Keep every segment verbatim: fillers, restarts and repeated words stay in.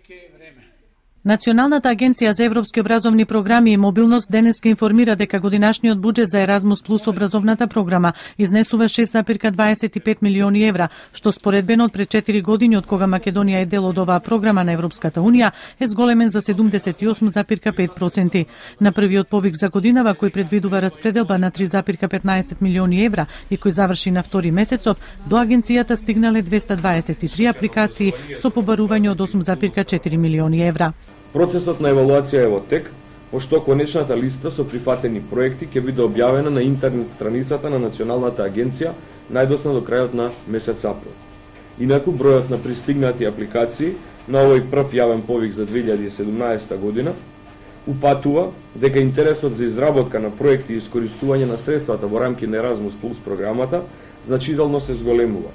повеќе време. Националната агенција за европски образовни програми и мобилност денеска информира дека годинашниот буџет за Еразмус плюс образовната програма изнесува шест зарез дваесет и пет милиони евра, што споредбено од пред четири години од кога Македонија е дел од оваа програма на Европската унија е зголемен за седумдесет и осум зарез пет проценти. На првиот повик за годинава кој предвидува распределба на три зарез петнаесет милиони евра и кој заврши на втори месецов, до агенцијата стигнале двесте дваесет и три апликации со побарување од осум зарез четири милиони евра. Процесот на евалуација е во тек, пошто конечната листа со прифатени проекти ќе биде објавена на интернет страницата на Националната агенција најдоцна до крајот на месец април. Инаку бројот на пристигнати апликации на овој прв јавен повик за две илјади и седумнаесета година упатува дека интересот за изработка на проекти и искористување на средствата во рамки на Еразмус плюс програмата значително се зголемува.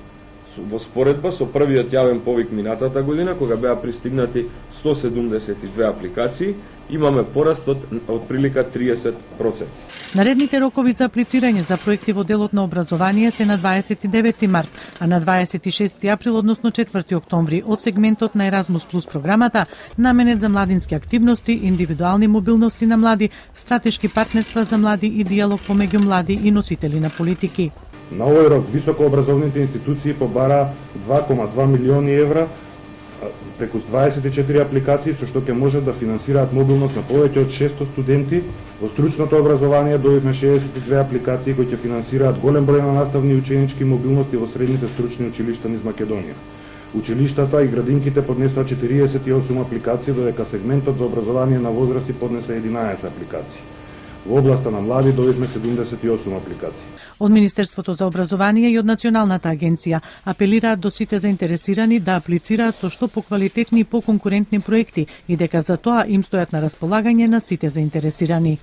Во споредба со првиот јавен повик минатата година, кога беа пристигнати сто седумдесет и две апликации, имаме пораст од отприлика триесет проценти. Наредните рокови за аплицирање за проекти во делот на образование се на дваесет и девети март, а на дваесет и шести април, односно четврти октомври, од сегментот на Еразмус плюс програмата, наменет за младински активности, индивидуални мобилности на млади, стратешки партнерства за млади и диалог помеѓу млади и носители на политики. На овој рок високообразовните институции побара два кома два милиони евра преку дваесет и четири апликации, со што ќе можат да финансираат мобилност на повеќе од шестстотини студенти. Во стручното образование добивме шеесет и две апликации кои ќе финансираат голем број на наставни и ученички мобилности во средните стручни училишта низ Македонија. Училиштата и градинките поднесоа четириесет и осум апликации, додека сегментот за образование на возрасти поднесе единаесет апликации. Во областа на млади добивме седумдесет и осум апликации. Од Министерството за образование и од Националната агенција апелираат до сите заинтересирани да аплицираат со што поквалитетни и поконкурентни проекти и дека за тоа им стојат на располагање на сите заинтересирани.